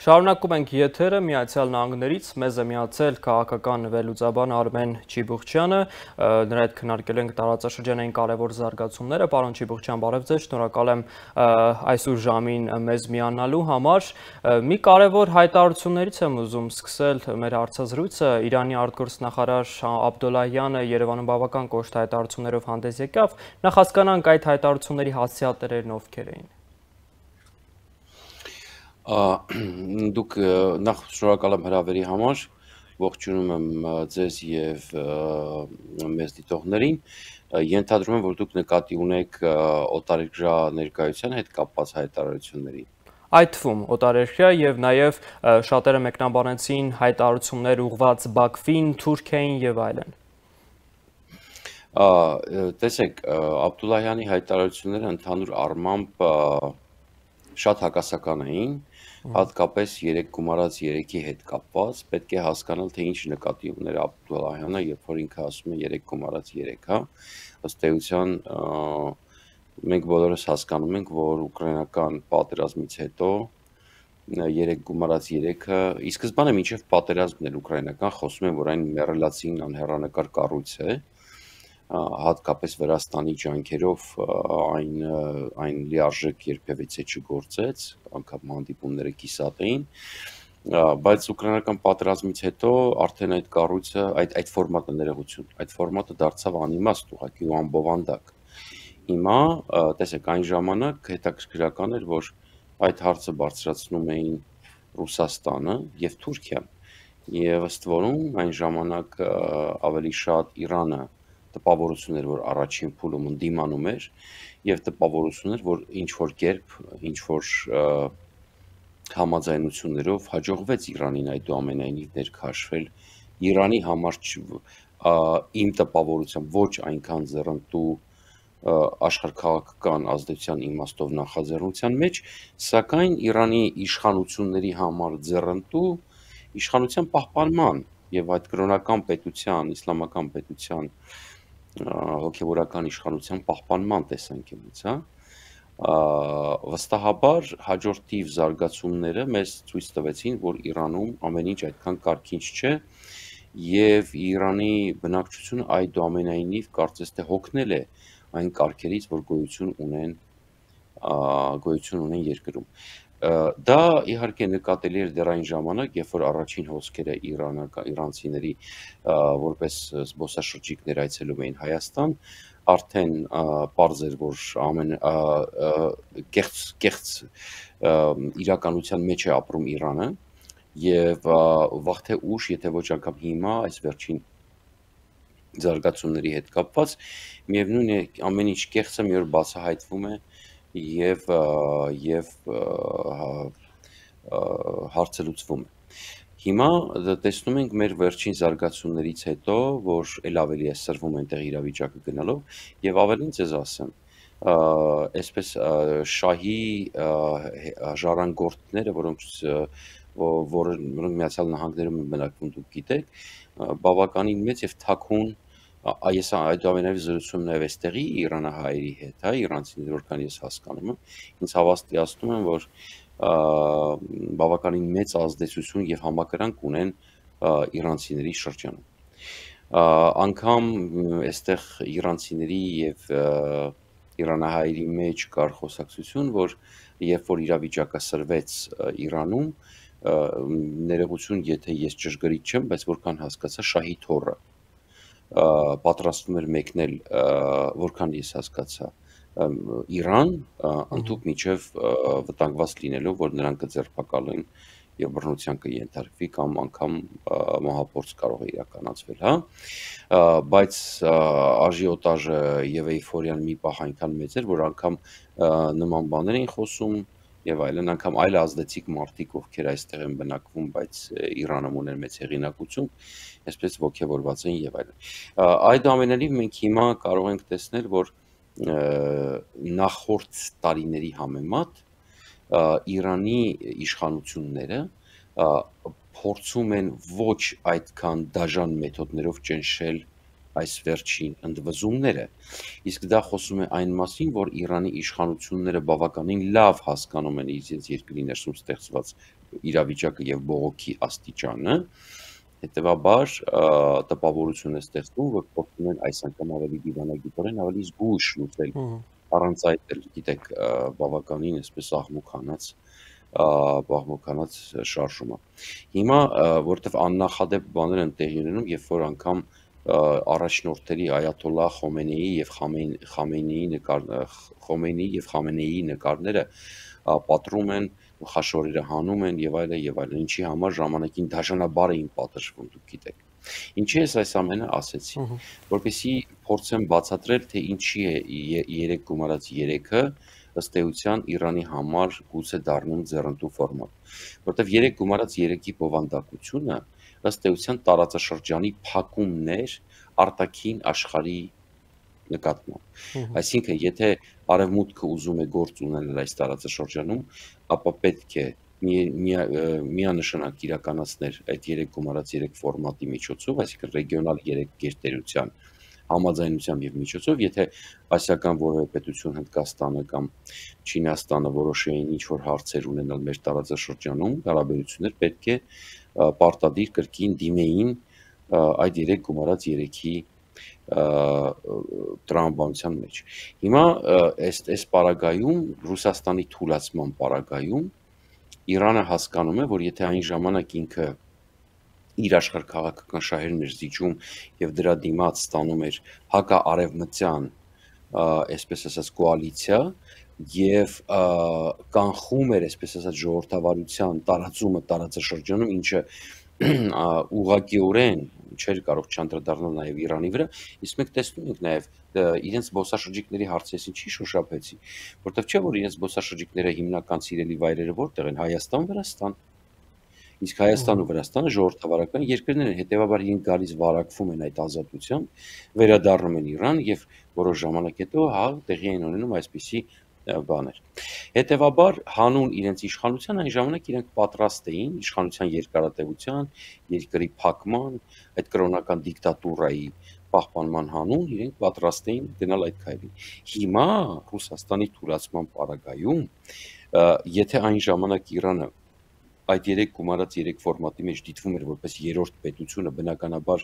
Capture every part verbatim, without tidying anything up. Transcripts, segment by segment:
Շարունակում ենք եթերը Միացյալ Նահանգներից, մեզ է միացել քաղաքական վերլուծաբան Արմեն Չիբուխչյանը, նրա հետ քննարկել ենք տարածաշրջանային կարևոր զարգացումները։ Պարոն Չիբուխչյան, բարև ձեզ, շնորհակալ եմ այսօր ժամին մեզ միանալու համար։ Մի կարևոր հայտարարություններից եմ ուզում սկսել մեր հարցազրույցը։ Իրանի արտգործնախարար Աբդոլլահյանը Երևանում բավական կոշտ հայտարարություններով հանդես եկավ։ Նախ հասկանանք այդ հայտարարությունների հասցեատերերն ովքեր էին։ Դուք նախ շնորհակալ եմ հրավերի համար, ողջունում եմ ձեզ և մեզ դիտողներին, ենթադրում եմ, որ դուք նկատի ունեք օտարերկրյա ներկայության հետ կապված հայտարարություններին։ Այդ թվում օտարերկրյա և նաև շատերը մեկնաբանեցին հայտարարություններ ուղղված Բաքվին, Թուրքիային և այլն։ Տեսեք, Աբդոլլահյանի հայտարարությունները ընդհանուր առմամբ շատ հակասական էին, հատկապես երեք գումարած երեքի հետ կապված, պետք է հասկանալ, թե ինչ նկատի ուներ Աբդոլլահյանը, երբ որ ինքը ասում է երեք գումարած երեք, հա, ըստ էության մենք բոլորս հասկանում ենք, որ ուկրաինական պատերազմից հետո երեք գումարած երեքը, ի սկզբանե մինչև պատերազմն էր ուկրաինական, խոսում են, որ այն մեռելացին անհեռանկար կառույց է, հատկապես Վրաստանի ջանքերով այն, այն լիարժեք երբևիցե չգործեց, անգամ հանդիպումները կիսատ էին, բայց ուկրաինական պատերազմից հետո արդեն այդ կառույցը, այդ, այդ ֆորմատը ներողություն, այդ ֆորմատը դարձավ անիմաստ ուղղակի ու անբովանդակ։ Հիմա, տեսեք, այն ժամանակ հետաքրքրական էր, որ այդ հարցը բարձրացնում էին Ռուսաստանը և Թուրքիան, և ըստ որում այն ժամանակ ավելի շատ Իրանը տպավորություն էր, որ առաջին փուլում ընդդիմանում էր, և տպավորություն էր, որ ինչ-որ կերպ, ինչ-որ համաձայնություններով հաջողվեց Իրանին այդուամենայնիվ ներքաշվել Իրանի համար իմ տպավորությամբ ոչ այնքան ձեռնտու աշխարհաքաղաքական ազդեցության իմաստով նախաձեռնության մեջ, սակայն Իրանի իշխանությունների համար ձեռնտու իշխանության պահպանման և այդ կրոնական պետության, իսլամական պետության հոգևորական իշխանության պահպանման տեսանկյունից, հա, վստահաբար հաջորդիվ զարգացումները մեզ ցույց տվեցին, որ Իրանում ամեն ինչ այդքան կարգինչ չէ, և Իրանի բնակչությունը այդուամենայնիվ կարծես թե հոգնել է այն կարգերից, որ գոյություն ունեն, գոյություն ունեն երկրում։ Դա իհարկե նկատելի էր դեռ այն ժամանակ, երբ որ առաջին հոսքերը իրանցիների որպես զբոսաշրջիկներ այցելում էին Հայաստան, արդեն պարզ էր, որ ամեն կեղծ, կեղծ իրականության մեջ է ապրում Իրանը, և վաղ թե ուշ, եթե ոչ անգամ հիմա, այս վերջին զարգացումների հետ կապված, միևնույն է, ամեն ինչ կեղծը մի օր բացահայտվում է և, և հարցը լուծվում է։ Հիմա տեսնում ենք մեր վերջին զարգացումներից հետո, որ էլ ավելի է սրվում այնտեղ իրավիճակը գնալով, և ավելին ձեզ ասեմ, այսպես շահի ժառանգորդները, որոնք որոնք Միացյալ Նահանգներում են բնակվում, դուք գիտեք, բավականին մեծ և թաքուն, ես այդուամենայնիվ զրուցում եմ նաև այստեղի իրանահայերի հետ, հա, իրանցիների, որքան ես հասկանում եմ, ինձ հավաստիացնում են, որ բավականին մեծ ազդեցություն և համակրանք ունեն իրանցիների շրջանում։ Անգամ այստեղ իրանցիների և իրանահայերի մեջ կար խոսակցություն, որ երբ որ իրավիճակը սրվեց Իրանում, ներողություն, եթե ես ճշգրիտ չեմ, բայց որքան հասկացա, շահի թոռը պատրաստվում էր մեկնել, որքան ես հասկացա, Իրան, ընդհուպ մինչև վտանգված լինելով, որ նրան կձերբակալեն և բռնության կենթարկվի կամ անգամ մահափորձ կարող է իրականացվել, հա, բայց աժիոտաժը և էյֆորիան մի պահ այնքան մեծ էր, որ անգամ նման բաներ էին խոսում և այլն, անգամ այլ ազդեցիկ մարդիկ, ովքեր այստեղ են բնակվում, բայց Իրանում ունեն մեծ հեղինակություն, այսպես ոգևորված են և այլն։ Այդուամենայնիվ մենք հիմա կարող ենք տեսնել, որ նախորդ տարիների համեմատ Իրանի իշխանությունները փորձում են ոչ այդքան դաժան մեթոդներով ճնշել այս վերջին ընդվզումները, իսկ դա խոսում է այն մասին, որ Իրանի իշխանությունները բավականին լավ հասկանում են իրենց երկրի ներսում ստեղծված իրավիճակը եւ բողոքի աստիճանը, հետեւաբար տպավորություն է ստեղծվում, որ փորձում են այս անգամ ավելի դիվանագիտորեն, ավելի զգույշ լուծել, առանց այդ էլ գիտեք բավականին այսպես աղմուկանաց բաղմուկանաց շարժումը։ Հիմա որտեվ աննախադեպ բաներ են տեղի ունենում, երբ որ անգամ առաջնորդների Այաթոլլահ Խոմեյնիի եւ Խամենեիի նկար Խոմեյնիի եւ Խամենեիի նկարները պատռում են, խաշորերը հանում են եւ այլն եւ այլն, ինչի համար ժամանակին դաշնաբար էին պատժվում, դուք գիտեք։ Ինչի ես այս ամենը ասեցի, որպեսզի փորձեմ բացատրել, թե ինչի է երեք գումարած երեքը ըստ էության Իրանի համար գուցե դառնում ձեռնտու ֆորմատ, որտեղ երեք գումարած երեքի բովանդակությունը ըստ էության տարածաշրջանի փակումներ արտաքին աշխարհի նկատմամբ։ Այսինքն, եթե արևմուտքը ուզում է գործ ունել այս տարածաշրջանում, ապա պետք է միանշանակ իրականացնել այդ երեք գումարած երեք ֆորմատի միջոցով, այսինքն ռեգիոնալ երեք գերտերության համաձայնությամբ եւ միջոցով, եթե ասիական որևէ պետություն Հնդկաստանը կամ Չինաստանը որոշեին ինչ-որ հարցեր ունենալ մեր տարածաշրջանում, հարաբերություններ, պետք է պարտադիր կրկին դիմեին այդ երեք գումարած երեքի տրամաբանության մեջ։ Հիմա այս այս պարագայում, Ռուսաստանի թուլացման պարագայում, Իրանը հասկանում է, որ եթե այն ժամանակ ինքը իր աշխարհքաղաքական շահերն էր զիջում եւ դրա դիմաց ստանում էր հակաարևմտյան, այսպես ասած, կոալիցիա եւ կանխում էր, այսպես ասած, ժողովրդավարության տարածումը տարածաշրջանում, ինչը ուղղակիորեն չէր կարող չանդրադառնալ նաև Իրանի վրա, իսկ մենք տեսնում ենք նաև իրենց զբոսաշրջիկների հարցը, ինչի շոշափեցի, որտեղ չէ որ իրենց զբոսաշրջիկները հիմնական սիրելի վայրերը որտեղ են, Հայաստան, Վրաստան, իսկ Հայաստան ու Վրաստանը ժողովրդավարական երկրներ են, հետեւաբար իրենք գալիս վարակվում են այդ ազատությամբ, վերադառնում են Իրան եւ որոշ ժամանակ հետո հա տեղի են ունենում այսպիսի բաներ։ Հետևաբար հանուն իրենց իշխանության այն ժամանակ իրենք պատրաստ էին իշխանության երկարատևության, երկրի փակման, այդ կրոնական դիկտատուրայի պահպանման հանուն իրենք պատրաստ էին գնալ այդ քայլին։ Հիմա Ռուսաստանի թուլացման պարագայում, եթե այն ժամանակ Իրանը այդ երեք գումարած երեք ֆորմատի մեջ դիտվում էր որպես երրորդ պետությունը, բնականաբար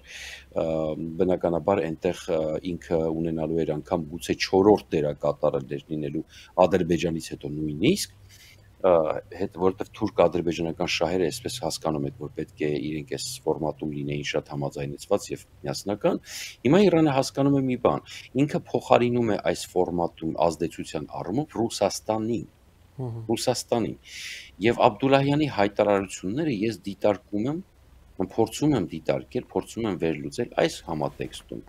բնականաբար այնտեղ ինքը ունենալու էր անգամ գուցե չորրորդ դերակատարներ լինելու Ադրբեջանից հետո նույնիսկ, հետ որտեղ թուրք-ադրբեջանական շահերը այսպես հասկանում եք, որ պետք է իրենք այս ֆորմատում լինեին շատ համաձայնեցված եւ միասնական, հիմա Իրանը հասկանում է մի բան, ինքը փոխարինում է այս ֆորմատում ազդեցության առումով Ռուսաստանին, Ռուսաստանին եւ Աբդուլլահյանի հայտարարությունները ես դիտարկում եմ, փորձում եմ դիտարկել, փորձում եմ վերլուծել այս համատեքստում,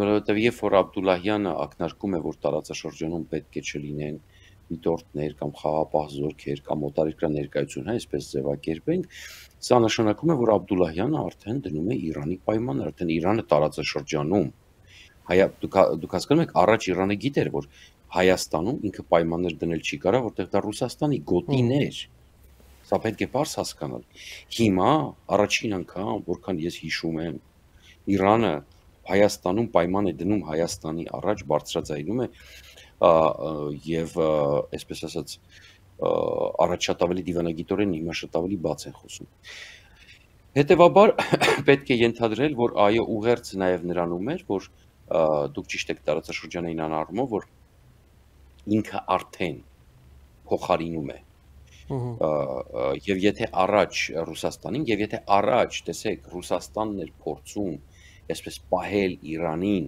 որովհետեւ երբ որ Աբդուլլահյանը ակնարկում է, որ տարածաշրջանում պետք է չլինեն դիտորդներ կամ խաղապահ զորքեր կամ օտարերկրյա ներկայություն, այսպես ձևակերպենք, սա նշանակում է, որ Աբդուլլահյանը արդեն դնում է Իրանի պայմաններ, արդեն Իրանը տարածաշրջանում, դուք դուք հասկանում եք, առաջ Իրանը գիտեր, որ Հայաստանում ինքը պայմաններ դնել չի կարող, որտեղ դա Ռուսաստանի գոտին էր, սա պետք է պարզ հասկանալ։ Հիմա առաջին անգամ, որքան ես հիշում եմ, Իրանը Հայաստանում պայման է դնում Հայաստանի առաջ, բարձրաձայնում է եւ այսպես ասած առաջ շատ ավելի դիվանագիտորեն, հիմա շատ ավելի բաց են խոսում։ Հետևաբար պետք է ենթադրել, որ այո, ուղերձ նաեւ նրանում էր, որ դուք ճիշտ եք տարածաշրջանային անառումով, որ ինքը արդեն փոխարինում է եւ եթե առաջ Ռուսաստանին եւ եթե առաջ տեսեք Ռուսաստանն էր փորձում այսպես պահել Իրանին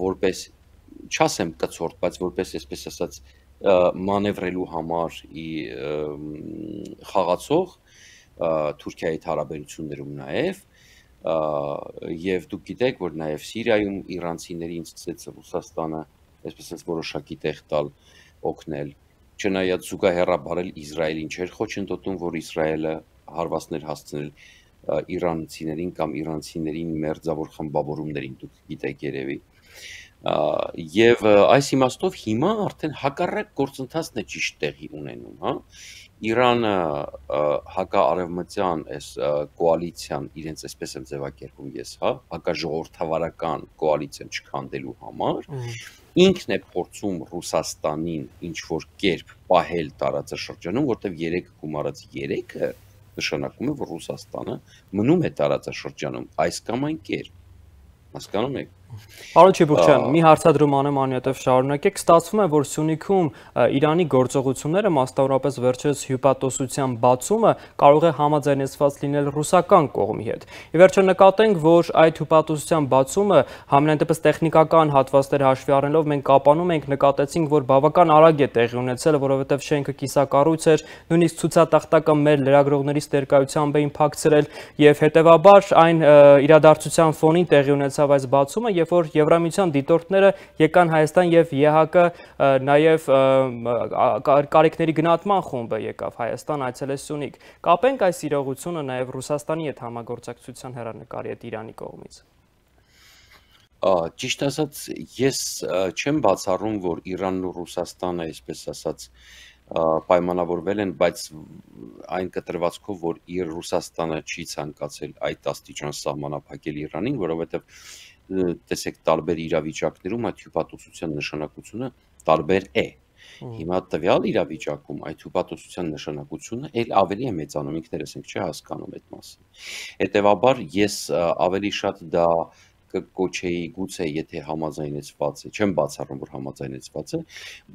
որպես չասեմ կցորդ, բայց որպես այսպես ասած մանևրելու համար խաղացող Թուրքիայի հետ հարաբերություններում նաեւ եւ դուք գիտեք, որ նաեւ Սիրիայում իրանցիներին սկսեց Ռուսաստանը այսպես ասած որոշակի տեղ տալ, օգնել, չնայած զուգահեռաբար Իսրայելին չէր խոչընդոտում, որ Իսրայելը հարվածներ հասցնել իրանցիներին կամ իրանցիներին մերձավոր խմբավորումներին, դուք գիտեք երևի, Եվ այս իմաստով հիմա արդեն հակառակ գործընթացն է ճիշտ տեղի ունենում, հա։ Իրանը հակաարևմտյան այս կոալիցիան իրենց այսպես եմ ձևակերպում ես, հա, հակաժողովրդավարական կոալիցիան չքանդելու համար, ինքն է փորձում Ռուսաստանին ինչ որ կերպ պահել տարածաշրջանում, որտեղ երեք գումարած երեքը նշանակում է, որ Ռուսաստանը մնում է տարածաշրջանում այս կամ այն կերպ, հասկանում եք։ Պարոն Չիբուխչյան, մի հարցադրում անեմ անհետև շարունակեք, ստացվում է, որ Սյունիքում Իրանի գործողությունները, մասնավորապես վերջերս հյուպատոսության բացումը կարող է համաձայնեցված լինել ռուսական կողմի հետ։ Ի վերջո նկատենք, որ այդ հյուպատոսության բացումը համենայնդեպս տեխնիկական հատվածներ հաշվի առնելով մենք կապանում ենք, նկատեցինք, որ բավական արագ է տեղի ունեցել, որովհետև շենքը կիսակառույց էր, նույնիսկ ցուցատախտակը մեր լրագրողներից ներկայությամբ էին փակցրել եւ հետեւաբար այն իրադարձության ֆոնին տեղի ունեցավ այս բացումը, երբ որ Եվրամիության դիտորդները եկան Հայաստան եւ ԵՀԿ նաեւ կարիքների գնահատման խումբը եկավ Հայաստան, այցելեց Սյունիք։ Կապենք այս իրողությունը նաեւ Ռուսաստանի հետ համագործակցության հեռանկարի հետ Իրանի կողմից։ Ճիշտ ասած, ես չեմ բացառում, որ Իրանն ու Ռուսաստանը, այսպես ասած, պայմանավորվել են, բայց այն կտրվածքով, որ իր Ռուսաստանը չի ցանկացել այդ աստիճան սահմանափակել Իրանին, որովհետև տեսեք տարբեր իրավիճակներում այդ հյուպատոսության նշանակությունը տարբեր է։ Հիմա տվյալ իրավիճակում այդ հյուպատոսության նշանակությունը էլ ավելի է մեծանում, ինքներս ենք չէ հասկանում այդ մասին։ Հետևաբար ես ավելի շատ դա կկոչեի գուցե եթե համաձայնեցված է, չեմ բացառում, որ համաձայնեցված է,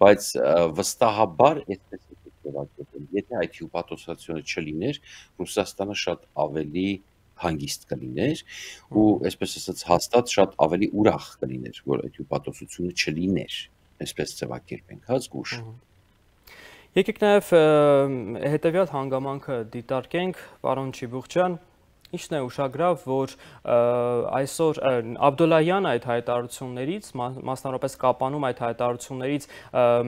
բայց վստահաբար այդպես է ձևակերպել, եթե այդ հյուպատոսությունը չլիներ, Ռուսաստանը շատ ավելի հանգիստ կլիներ ու այսպես ասած հաստատ շատ ավելի ուրախ կլիներ, որ այդ հյուպատոսությունը չլիներ, այսպես ձևակերպենք, հա զգուշ։ Եկեք նաև հետևյալ հանգամանքը դիտարկենք, պարոն Չիբուխչյան, ինչն է ուշագրավ, որ այսօր Աբդոլլահյանը այդ հայտարարություններից, մասնավորապես կապանում այդ հայտարարություններից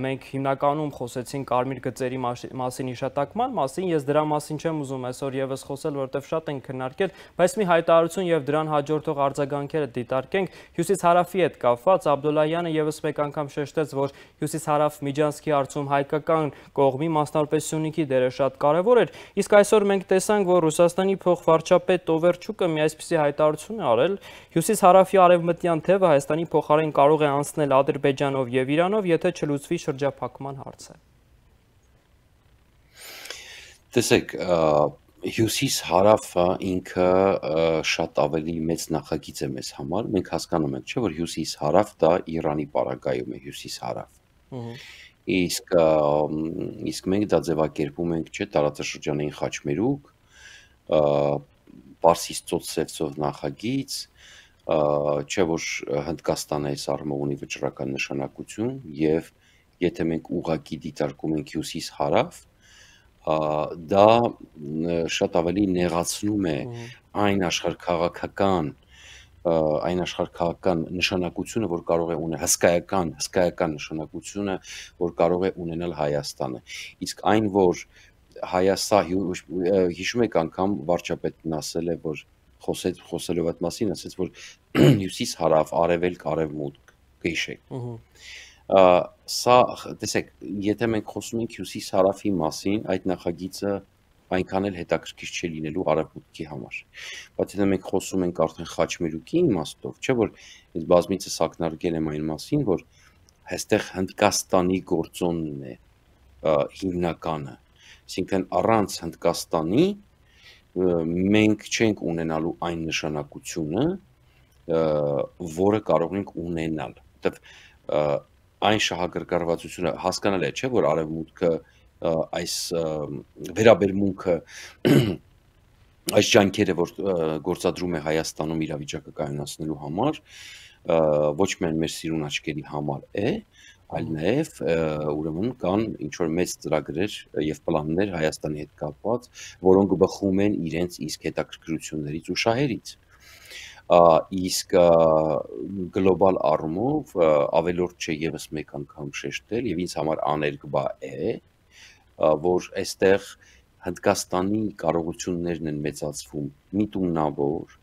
մենք հիմնականում խոսեցինք կարմիր գծերի մասին հիշատակման մասին, ես դրա մասին չեմ ուզում այսօր եւս խոսել, որովհետև շատ ենք քննարկել, բայց մի հայտարարություն եւ դրան հաջորդող արձագանքերը դիտարկենք, հյուսիս-հարավի հետ կապված Աբդոլլահյանը եւս մեկ անգամ շեշտեց, որ հյուսիս-հարավ Միջանցքի հարցում հայկական կողմի, մասնավորապես Սյունիքի դերը շատ կարեւոր էր, իսկ այսօր մենք տեսանք, որ Ռուսաստանի փոխվարչապետ Տովերչուկը մի այսպիսի հայտարարություն է արել, հյուսիս-հարավի արևմտյան թևը Հայաստանի փոխարեն կարող է անցնել Ադրբեջանով եւ Իրանով, եթե չլուծվի շրջափակման հարցը։ Տեսեք, հյուսիս-հարավը ինքը շատ ավելի մեծ նախագիծ է մեզ համար, մենք հասկանում ենք, չէ՞ որ հյուսիս-հարավ դա Իրանի պարագայում է հյուսիս-հարավ։ Իսկ իսկ մենք դա ձևակերպում ենք, չէ՞, տարածաշրջանային խաչմերուկ, Պարսից ծոց-Սևծով նախագիծ, չէ՞ որ Հնդկաստանը այս առումով ունի վճռական նշանակություն եւ եթե մենք ուղղակի դիտարկում ենք հյուսիս-հարավ, դա շատ ավելի նեղացնում է այն աշխարհքաղաքական այն աշխարհքաղաքական նշանակությունը, որ կարող է ունենալ հսկայական, հսկայական նշանակությունը, որ կարող է ունենալ Հայաստանը։ Իսկ այն, որ Հայաստան հիշում եք անգամ վարչապետն ասել է, որ խոսեց խոսելով այդ մասին, ասեց, որ հյուսիս-հարավ, արևելք, արևմուտք, կհիշեք։ Սա, տեսեք, եթե մենք խոսում ենք հյուսիս-հարավի մասին, այդ նախագիծը այնքան էլ հետաքրքիր չի լինելու արևմուտքի համար։ Բայց եթե մենք խոսում ենք արդեն խաչմերուկի իմաստով, չէ՞ որ ես բազմիցս ակնարկել եմ այն մասին, որ այստեղ Հնդկաստանի գործոնն է հիմնականը, այսինքն առանց Հնդկաստանի մենք չենք ունենալու այն նշանակությունը, որը կարող ենք ունենալ, որտեղ այն շահագրգռվածությունը հասկանալ է, չէ՞ որ արևմուտքը այս վերաբերմունքը այս ջանքերը, որ գործադրում է Հայաստանում իրավիճակը կայունացնելու համար, ոչ միայն մեր սիրուն աչքերի համար է, այլ նաև ուրեմն կան ինչ որ մեծ ծրագրեր եւ պլաններ Հայաստանի հետ կապված, որոնք բխում են իրենց իսկ հետաքրքրություններից ու շահերից։ Իսկ գլոբալ առումով ավելորդ չէ եւս մեկ անգամ շեշտել եւ ինձ համար աներկբա է, որ այստեղ Հնդկաստանի կարողություններն են մեծացվում միտումնավոր,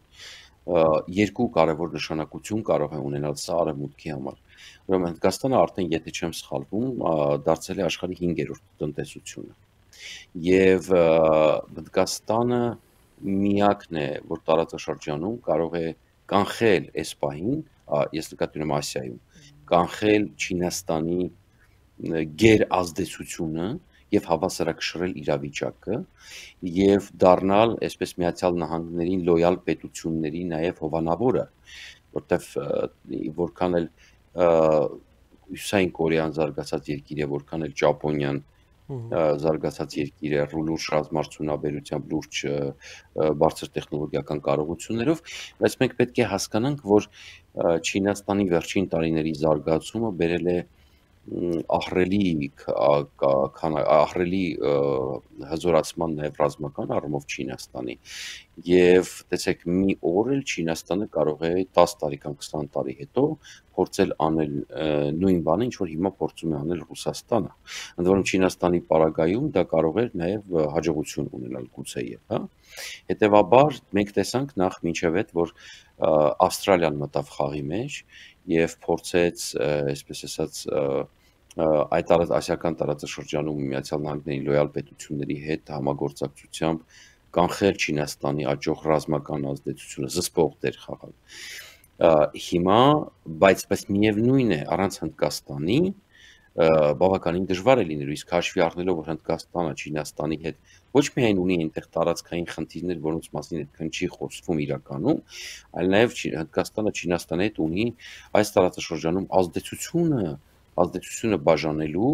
երկու կարևոր նշանակություն կարող է ունենալ սա արևմուտքի համար։ ուրեմն Հնդկաստանը արդեն, եթե չեմ սխալվում, դարձել է աշխարհի հինգերորդ տնտեսությունը։ Եվ Հնդկաստանը միակն է, որ տարածաշրջանում կարող է կանխել այս պահին, ես նկատի ունեմ Ասիայում, կանխել Չինաստանի գերազդեցությունը եւ հավասարակշռել իրավիճակը եւ դառնալ այսպես Միացյալ Նահանգներին լոյալ պետությունների նաեւ հովանավորը, որտեվ որքան էլ Հյուսային Կորեան զարգացած երկիր է, որքան էլ Ճապոնիան զարգացած երկիր է, լուրջ ռազմարդյունաբերությամբ, լուրջ բարձր տեխնոլոգիական կարողություններով, բայց մենք պետք է հասկանանք, որ Չինաստանի վերջին տարիների զարգացումը բերել է ահռելի ահռելի հզորացման նաև ռազմական առումով Չինաստանի եւ տեսեք մի օր էլ Չինաստանը կարող է տասը տարի կամ քսան տարի հետո փորձել անել նույն բանը, ինչ որ հիմա փորձում է անել Ռուսաստանը։ Ընդ որում Չինաստանի պարագայում դա կարող է նաև հաջողություն ունենալ գուցեև, հա։ Հետևաբար մենք տեսանք նախ մինչև այդ, որ Ավստրալիան մտավ խաղի մեջ եւ փորձեց, այսպես ասած, այդ ասիական տարածաշրջանում Միացյալ Նահանգների լոյալ պետությունների հետ համագործակցությամբ կանխել Չինաստանի աճող ռազմական ազդեցությունը, զսպող դեր խաղալ։ Հիմա, բայց բայց միևնույն է, առանց Հնդկաստանի բավականին դժվար է լինելու, իսկ հաշվի առնելով, որ Հնդկաստանը Չինաստանի հետ ոչ միայն ունի այնտեղ տարածքային խնդիրներ, որոնց մասին այդքան չի խոսվում իրականում, այլ նաև Հնդկաստանը Չինաստանի հետ ունի այս տարածաշրջանում ազդեցությունը, ազդեցությունը բաժանելու,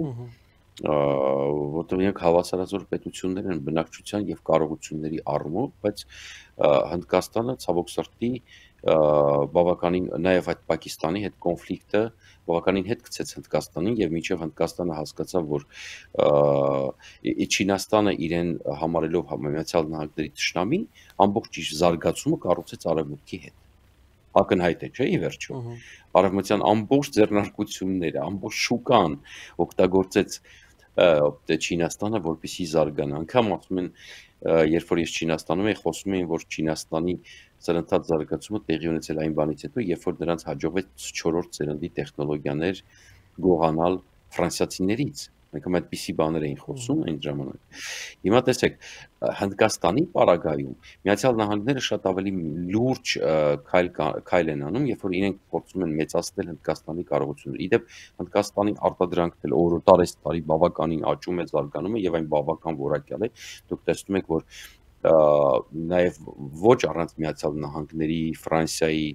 որտեղ իրենք հավասարազոր պետություններ են բնակչության եւ կարողությունների առումով, բայց Հնդկաստանը ցավոք սրտի բավականին նաև այդ Պակիստանի հետ կոնֆլիկտը բավականին հետ գցեց Հնդկաստանին եւ մինչեւ Հնդկաստանը հասկացավ, որ Չինաստանը իրեն համարելով Միացյալ Նահանգների թշնամի, ամբողջ իր զարգացումը կառուցեց արևմուտքի հետ։ Ակնհայտ է, չէ՞, ի վերջո։ Արևմտյան ամբողջ ձեռնարկությունները, ամբողջ շուկան օգտագործեց Չինաստանը, որպեսզի զարգանա։ Անգամ ասում են, երբ որ ես Չինաստանում եի, խոսում էին, որ Չինաստանի սրընթաց զարգացումը տեղի ունեցել այն բանից հետո, երբ որ նրանց հաջողվեց չորրորդ սերնդի տեխնոլոգիաներ գողանալ ֆրանսիացիներից։ Մենք այդպիսի բաներ էին խոսում այն ժամանակ։ Հիմա տեսեք, Հնդկաստանի պարագայում Միացյալ Նահանգները շատ ավելի լուրջ քայլ քայլ են անում, երբ որ իրենք փորձում են մեծացնել Հնդկաստանի կարողությունները։ Իդեպ Հնդկաստանի արտադրանքն օր տարես տարի բավականին աճում է, զարգանում է եւ այն բավական որակյալ է։ Դուք տեսնում եք, որ նաև ոչ առանց Միացյալ Նահանգների, Ֆրանսիայի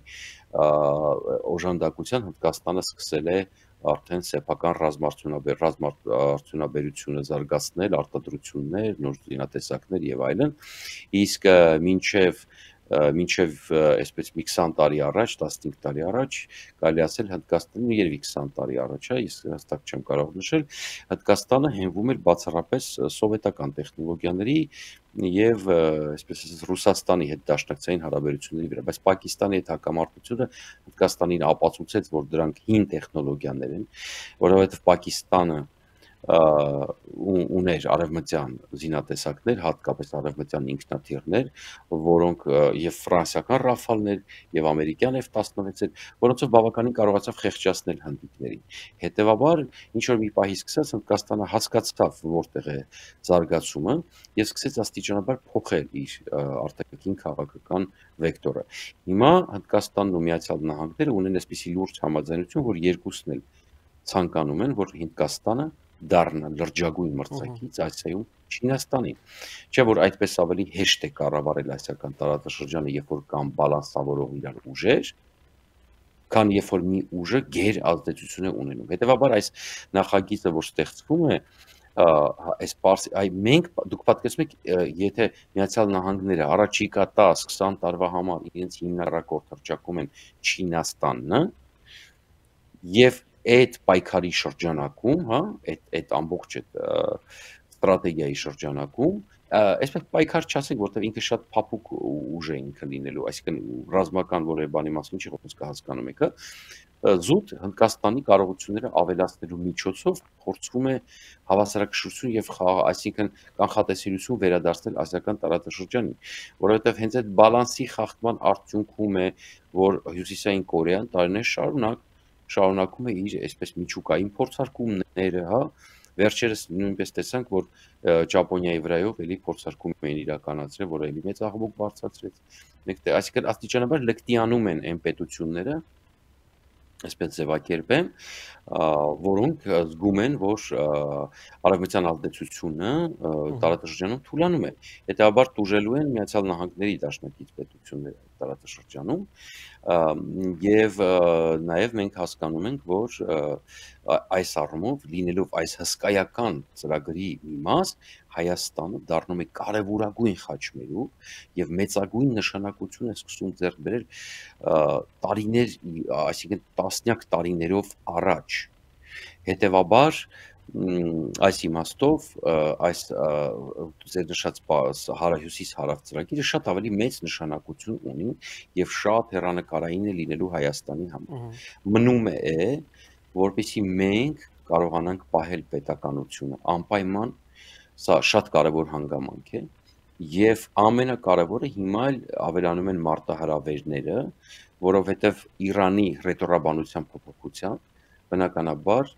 օժանդակության Հնդկաստանը սկսել է արդեն սեփական ռազմարդյունաբեր ռազմարդյունաբերությունը զարգացնել, արտադրություններ, նոր զինատեսակներ եւ այլն, իսկ մինչեւ մինչև այսպես մի քսան տարի առաջ, տասնհինգ տարի առաջ, կարելի ասել Հնդկաստանը երևի քսան տարի առաջ, հա, ես հստակ չեմ կարող նշել, Հնդկաստանը հենվում էր բացառապես սովետական տեխնոլոգիաների եւ այսպես ասած Ռուսաստանի հետ դաշնակցային հարաբերությունների վրա, բայց Պակիստանի հետ հակամարտությունը Հնդկաստանին ապացուցեց, որ դրանք հին տեխնոլոգիաներ են, որովհետեւ Պակիստանը ուներ արևմտյան զինատեսակներ, հատկապես արևմտյան ինքնաթիռներ, որոնք եւ ֆրանսիական ռաֆալներ եւ ամերիկյան F տասնվեցեր, որոնցով բավականին կարողացավ խեղճացնել հնդիկներին։ Հետևաբար, ինչ որ մի պահի սկսած Հնդկաստանը հասկացավ, որտեղ է զարգացումը եւ սկսեց աստիճանաբար փոխել իր արտաքին քաղաքական վեկտորը։ Հիմա Հնդկաստանն ու Միացյալ Նահանգները ունեն այսպիսի լուրջ համաձայնություն, որ երկուսն էլ ցանկանում են, որ Հնդկաստանը դառնա լրջագույն մրցակից Ասիայում Չինաստանին։ Չէ՞ որ այդպես ավելի հեշտ է կառավարել ասիական տարածաշրջանը, երբ որ կան բալանսավորող իրար ուժեր, քան երբ որ մի ուժը գեր ազդեցություն է ունենում։ Հետևաբար այս նախագիծը, որ ստեղծվում է, այս պարս այ մենք դուք պատկերացնում եք, եթե Միացյալ Նահանգները առաջիկա տասը քսան տարվա համար իրենց հիմնարակորդ հռչակում են Չինաստանն, եւ այդ պայքարի շրջանակում, հա, այդ այդ ամբողջ այդ ստրատեգիայի շրջանակում, այսպես պայքար չասենք, որտեղ ինքը շատ փափուկ ուժ է ինքը լինելու, այսինքն ռազմական որևէ բանի մասին չի խոսքը, հասկանում եք, հա, զուտ Հնդկաստանի կարողությունները ավելացնելու միջոցով փորձվում է հավասարակշռություն եւ խաղ, այսինքն կանխատեսելիություն վերադարձնել ասիական տարածաշրջանին, որովհետեւ հենց այդ բալանսի խախտման արդյունքում է, որ Հյուսիսային Կորեան տարիներ շարունակ շարունակում է իր այսպես միջուկային փորձարկումները, հա, վերջերս նույնպես տեսանք, որ Ճապոնիայի վրայով էլի փորձարկում էին իրականացրել, որը էլի մեծ աղմուկ բարձրացրեց։ Մեկ այսինքն աստիճանաբար լկտիանում են այն պետությունները, այսպես ձևակերպեմ, որոնք զգում են, որ արևմտյան ազդեցությունը տարածաշրջանում թուլանում է։ Հետևաբար տուժելու են Միացյալ Նահանգների դաշնակից պետությունները տարածաշրջանում, եւ նաեւ մենք հասկանում ենք, որ այս առումով լինելով այս հսկայական ծրագրի մի մաս, Հայաստանը դառնում է կարևորագույն խաչմերուկ եւ մեծագույն նշանակություն է սկսում ձեռք բերել տարիներ, այսինքն տասնյակ տարիներով առաջ։ Հետևաբար այս իմաստով այս ձեր նշած հարահյուսիս հարավ ծրագիրը շատ ավելի մեծ նշանակություն ունի եւ շատ հեռանկարային է լինելու Հայաստանի համար։ Մնում է, որպեսզի մենք կարողանանք պահել պետականությունը անպայման, սա շատ կարևոր հանգամանք է, եւ ամենակարևորը հիմա էլ ավելանում են մարտահրավերները, որովհետեւ Իրանի ռետորաբանության փոփոխության բնականաբար,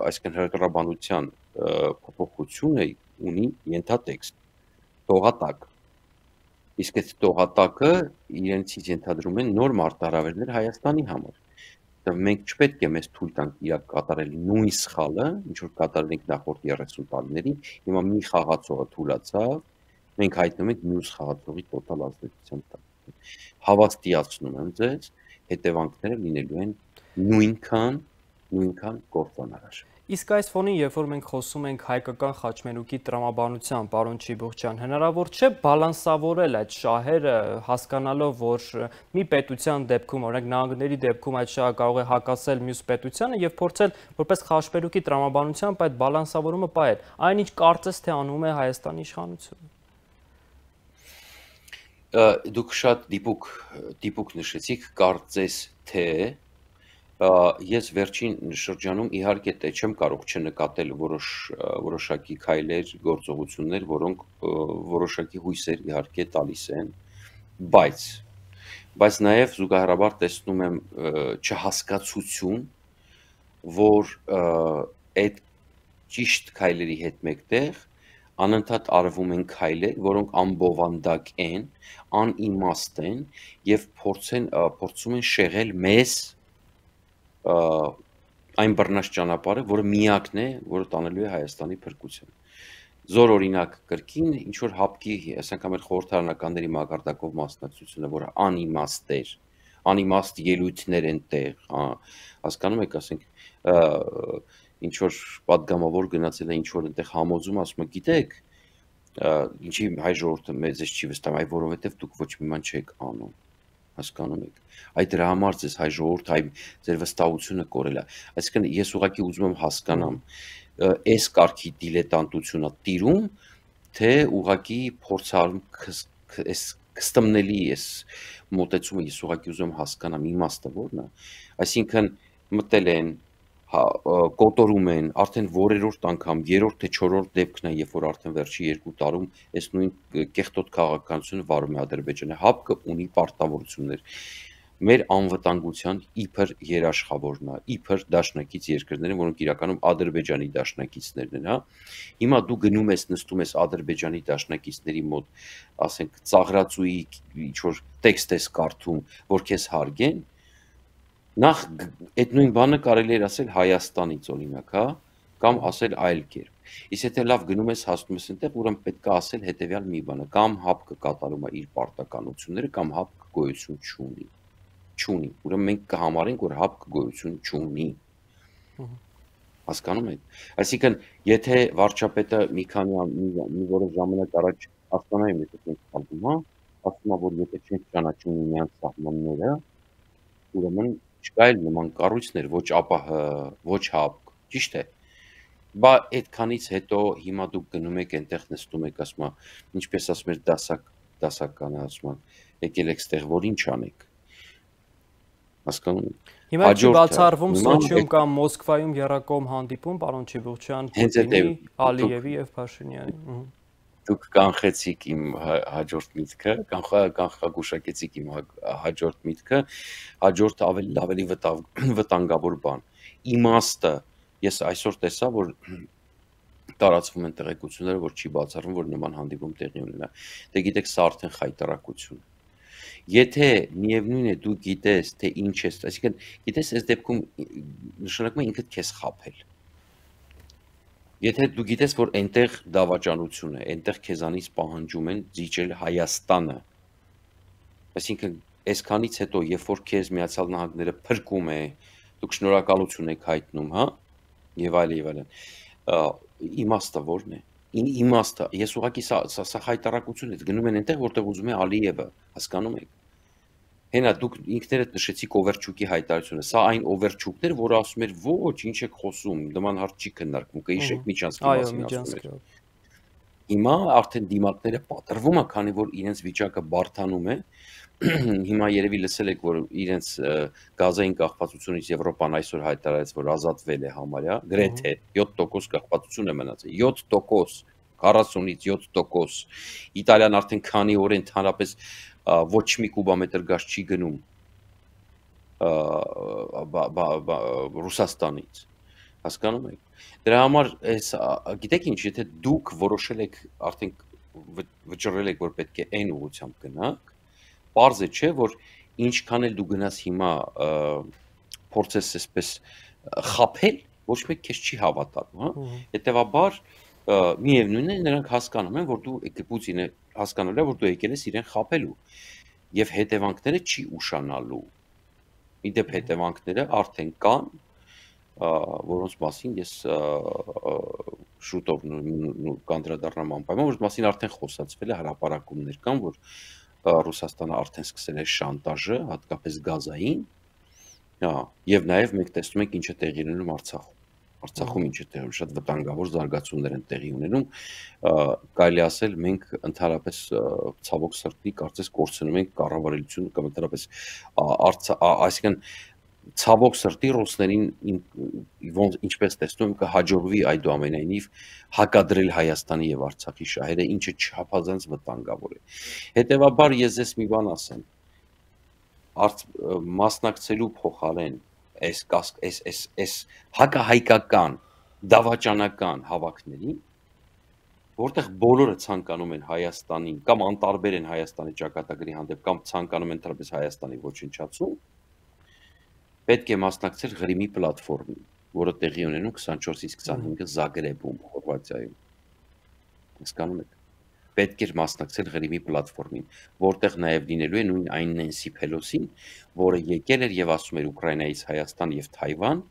այսինքն հրետորաբանության փոփոխությունը ունի ենթատեքստ, տողատակ։ Իսկ այդ տողատակը իրենցից ենթադրում են նոր մարտահրավերներ Հայաստանի համար։ Մենք չպետք է մեզ թույլ տանք իրակ կատարել նույն սխալը, ինչ որ կատարել ենք նախորդ երեսուն տարիներին, հիմա մի խաղացողը թուլացավ, մենք հայտնվում ենք մյուս խաղացողի տոտալ ազդեցության տակ։ Հավաստիացնում եմ ձեզ, հետևանքները լինելու են նույնքան, նույնքան կործանարար։ Իսկ այս ֆոնին, երբ որ մենք խոսում ենք հայկական խաչմերուկի տրամաբանության, պարոն Չիբուխչյան, հնարավոր չէ բալանսավորել այդ շահերը, հասկանալով, որ մի պետության դեպքում, օրինակ նահանգների դեպքում այդ շահը կարող է հակասել մյուս պետությանը եւ փորձել որպես խաչմերուկի տրամաբանությամբ այդ բալանսավորումը պահել։ Այնինչ կարծես թե անում է Հայաստանի իշխանությունը։ Դուք շատ դիպուկ դիպուկ նշեցիք, կարծես թե ես վերջին շրջանում իհարկե թե չեմ կարող չնկատել որոշ որոշակի քայլեր, գործողություններ, որոնք որոշակի հույսեր իհարկե տալիս են, բայց բայց նաև զուգահեռաբար տեսնում եմ չհասկացություն, որ այդ ճիշտ քայլերի հետ մեկտեղ անընդհատ արվում են քայլեր, որոնք անբովանդակ են, անիմաստ են եւ փորձեն փորձում են շեղել մեզ այն բռնած ճանապարհը, որը միակն է, որը տանելու է Հայաստանի փրկության։ Զոր օրինակ կրկին ինչ որ հապկի, ասենք մեր խորհրդարանականների մակարդակով մասնակցությունը, որը անիմաստ էր, անիմաստ ելույթներ են տեղ, հասկանում եք, ասենք ինչ որ падգամավոր գնացել է ինչ որ այնտեղ համոզում, ասում է, գիտեք, ինչի հայ ժողովուրդը մեզ չի վստահում, այ որովհետև դուք ոչ մի բան չեք անում, հասկանում եք։ Այդ դրա համար ձեզ հայ ժողովուրդ, հայ ձեր վստահությունը կորել է։ Այսինքն ես ուղղակի ուզում եմ հասկանամ, այս կարգի դիլետանտությունա տիրում, թե ուղղակի փորձարում այս կստմնելի այս մոտեցումը ես ուղղակի ուզում եմ հասկանամ իմաստը որն է։ Այսինքն մտել են, կոտորում են, արդեն որերորդ անգամ, երրորդ թե չորրորդ դեպքն է, երբ որ արդեն վերջի երկու տարում այս նույն կեղտոտ քաղաքականությունը վարում է Ադրբեջանը, հապկը ունի պարտավորություններ։ Մեր անվտանգության իբր երաշխավորն է, իբր դաշնակից երկրներ են, որոնք իրականում Ադրբեջանի դաշնակիցներն են, հա։ Հիմա դու գնում ես, նստում ես Ադրբեջանի դաշնակիցների մոտ, ասենք, ծաղրածուի ինչ որ տեքստ ես կարդում, որ քեզ հարգեն, նախ այդ նույն բանը կարելի էր ասել Հայաստանից օրինակ, հա, կամ ասել այլ կերպ։ Իսկ եթե լավ գնում ես հասնում ես այնտեղ, ուրեմն պետք է ասել հետեւյալ մի բանը, կամ հապկը կատարում է իր պարտականությունները, կամ հապկը գոյություն չունի։ Չունի։ Ուրեմն մենք կհամարենք, որ հապկը գոյություն չունի։ Հասկանում եք։ Այսինքն, եթե վարչապետը մի քանի մի որոշ ժամանակ առաջ հասկանայում է, թե մենք խաղում ենք, ասում է, որ եթե չենք ճանաչում միմյանց սահմանները, ուրեմն չկա էլ նման կառույցներ, ոչ ԱՊՀ, ոչ հապկ, ճիշտ է։ Բա այդքանից հետո հիմա դուք գնում եք այնտեղ նստում եք, ասում եք, ինչպես ասում եք, դասակ, դասականը ասում եք, եկել եք ստեղ, որ ինչ անեք։ Հասկանում եք։ Հիմա չի բացառվում Սոչիում կամ Մոսկվայում եռակողմ հանդիպում, պարոն Չիբուխչյան, Պուտինի, Ալիևի եւ Փաշինյանի։ Դուք կանխեցիք իմ հաջորդ միտքը, կանխագուշակեցիք իմ հաջորդ միտքը, հաջորդը ավելի ավելի վտանգավոր բան։ Իմաստը, ես այսօր տեսա, որ տարածվում են տեղեկությունները, որ չի բացառվում, որ նման հանդիպում տեղի ունենա։ Դե գիտեք, սա արդեն խայտարակություն է։ Եթե միևնույն է դու գիտես, թե ինչ ես, այսինքն գիտես, այս դեպքում նշանակում է ինքդ քեզ խաբել։ Եթե դու գիտես, որ այնտեղ դավաճանություն է, այնտեղ քեզանից պահանջում են զիջել Հայաստանը, այսինքն այսքանից հետո, երբ որ քեզ Միացյալ Նահանգները փրկում է, դուք շնորհակալություն եք հայտնում, հա, եւ այլ եւ այլն, իմաստը ո՞րն է։ Իմաստը, ես ուղղակի սա սա հայտարարություն է, գնում են այնտեղ, որտեղ ուզում է Ալիևը, հասկանում եք։ Հենա դուք ինքներդ նշեցիք Օվերչուկի հայտարարությունը, սա այն Օվերչուկն էր, որը ասում էր, ոչ, ինչ եք խոսում, նման հարց չի քննարկվում, կհիշեք Միջանցքի մասին ասում էր։ Հիմա արդեն դիմակները պատրվում է, քանի որ իրենց վիճակը բարդանում է, հիմա երևի լսել եք, որ իրենց գազային կախվածությունից Եվրոպան այսօր հայտարարեց, որ ազատվել է համարյա, գրեթե յոթ տոկոս կախվածություն է մնացել, յոթ տոկոս, քառասունից յոթ տոկոս, Իտալիան արդեն քանի օր ընդհանրապես ոչ մի կուբամետր գազ չի գնում Ռուսաստանից, հասկանում եք։ Դրա համար, գիտեք ինչ, եթե դուք որոշել եք, արդեն վճռել եք, որ պետք է այն ուղղությամբ գնաք, պարզ է չէ, որ ինչքան էլ դու գնաս հիմա փորձես այսպես խաբել, ոչ մեկ քեզ չի հավատալու, հա։ Հետևաբար միևնույնն է, նրանք հասկանում են, որ դու Պուտինը հասկանալու է, որ դու եկել ես իրեն խաբելու եւ հետևանքները չի ուշանալու։ Իդեպ հետևանքները արդեն կան, որոնց մասին ես շուտով կանդրադառնամ անպայման, որոնց մասին արդեն խոսացվել է, հրապարակումներ կան, որ Ռուսաստանը արդեն սկսել է շանտաժը, հատկապես գազային, եւ նաեւ մենք տեսնում ենք ինչ է տեղի ունենում Արցախում։ Արցախում ինչ է տեղի ունենում, շատ վտանգավոր զարգացումներ են տեղի ունենում, կարելի ասել մենք ընդհանրապես ցավոք սրտի կարծես կորցնում ենք կառավարությունը կամ ընդհանրապես այսինքն ցավոք սրտի ռուսներին ինչպես տեսնում եմ կհաջողվի այդուամենայնիվ հակադրել Հայաստանի եւ Արցախի շահերը, ինչը չափազանց վտանգավոր է։ Հետևաբար ես ձեզ մի բան ասեմ, մասնակցելու փոխարեն այս այս այս այս հակահայկական դավաճանական հավաքներին, որտեղ բոլորը ցանկանում են Հայաստանին կամ անտարբեր են Հայաստանի ճակատագրի հանդեպ կամ ցանկանում են ընդհանրապես Հայաստանի ոչնչացում, պետք է մասնակցել Ղրիմի պլատֆորմին, որը տեղի ունենում քսանչորսից քսանհինգը Զագրեբում, Խորվաթիայում։ Հասկանում եք։ Պետք էր մասնակցել Ղրիմի պլատֆորմին, որտեղ նաև լինելու է նույն այն Նենսի Փելոսին, որը եկել էր եւ ասում էր Ուկրաինայից Հայաստան եւ Թայվան,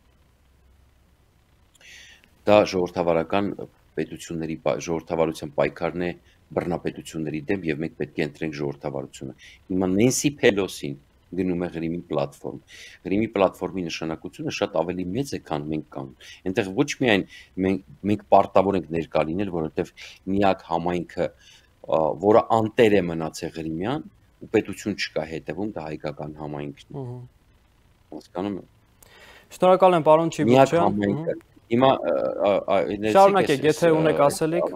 դա ժողովրդավարական պետությունների ժողովրդավարության պայքարն է բռնապետությունների դեմ եւ մենք պետք է ընտրենք ժողովրդավարությունը։ Հիմա Նենսի Փելոսին գնում է Ղրիմի պլատֆորմ։ Ղրիմի պլատֆորմի նշանակությունը շատ ավելի մեծ է, քան մենք կանենք։ Այնտեղ ոչ միայն մենք մենք պարտավոր ենք ներկա լինել, որովհետեւ միակ համայնքը, որը անտեր է մնացել Ղրիմյան, ու պետություն չկա հետևում, դա հայկական համայնքն է։ Հասկանում եք։ Շնորհակալ եմ, պարոն Չիբուկչյան։ Հիմա շարունակեք, եթե ունեք ասելիք։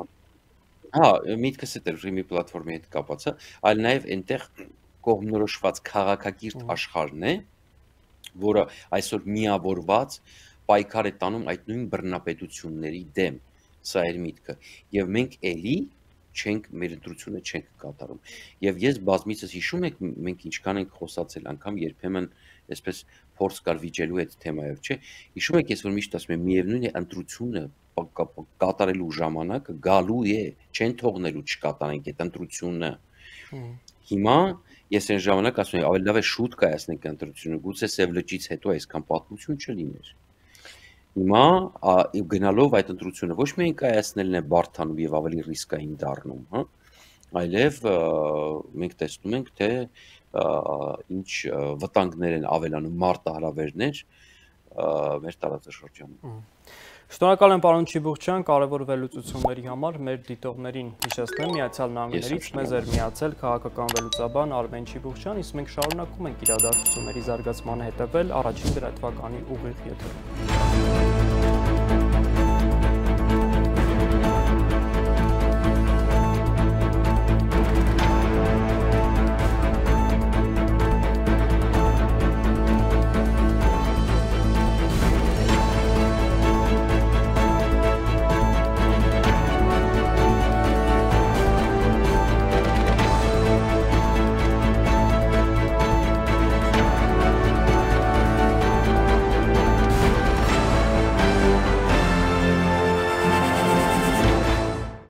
Հա, միտքս է դեր Ղրիմի պլատֆորմի հետ կապված է, այլ նաև այնտեղ կողմնորոշված քաղաքակիրթ աշխարհն է, որը այսօր միավորված պայքար է տանում այդ նույն բռնապետությունների դեմ, սա էր միտքը, եւ մենք էլի չենք մեր ընտրությունը չենք կատարում։ Եվ ես բազմիցս հիշում եք, մենք ինչքան ենք խոսացել, անգամ երբեմն այսպես փորձ կար վիճելու այդ թեմայով, չէ։ Հիշում եք, ես որ միշտ ասում եմ, միևնույն է ընտրությունը կատարելու ժամանակը գալու է, չեն թողնելու չկատարենք այդ ընտրությունը։ Հիմա ես այն ժամանակ ասում եմ, ավելի լավ է շուտ կայացնենք ընտրությունը, գուցե Սև լճից հետո այսքան պատմություն չլիներ։ Հիմա գնալով այդ ընտրությունը ոչ միայն կայացնելն է բարդանում եւ ավելի ռիսկային դառնում, հա, այլև մենք տեսնում ենք, թե ինչ վտանգներ են ավելանում մարտահրավերներ մեր տարածաշրջանում։ Շնորհակալ եմ, պարոն Չիբուկչյան, կարևոր վերլուծությունների համար։ Մեր դիտողներին հիշեցնեմ, Միացյալ Նահանգներից մեզ էր միացել քաղաքական վերլուծաբան Արմեն Չիբուկչյան, իսկ մենք շարունակում ենք իրադարձությունների զարգացմանը հետևել առաջին լրատվականի ուղիղ եթերում։